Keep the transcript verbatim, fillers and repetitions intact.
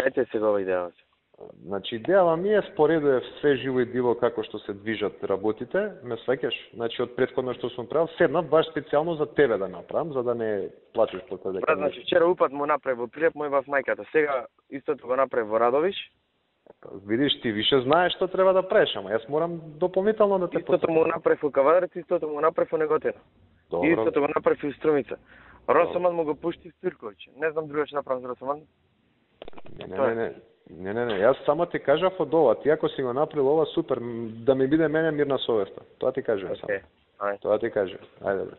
Дајте сега ова идеја. Значи, идејава ми е споредува све живо и диво како што се движат работите, ме свеќаш. Значи, од претходно што сум правил, седнав баш специјално за тебе да направам, за да не плачеш по тоа дека... Брат, значи, вчера упат му направи во Прилеп, мој во мајката. Сега истото го направи во Радовиш. Видиш, ти више знаеш што треба да правиш, ама јас морам дополнително да те Истото му направи во Кавадарец, истото му направи во Неготина. Добро. Истото го направи во Струмица. Росоман му го пушти в Цирковиќ. Не знам друго што направам за Росоман. Не, не, не, не. Не, не, не, јас само ти кажав од ова, ти ако си го направил ова, супер, да ми биде мене мирна совеста. Тоа ти кажувам okay. само. Тоа ти кажувам. Ајде, бре.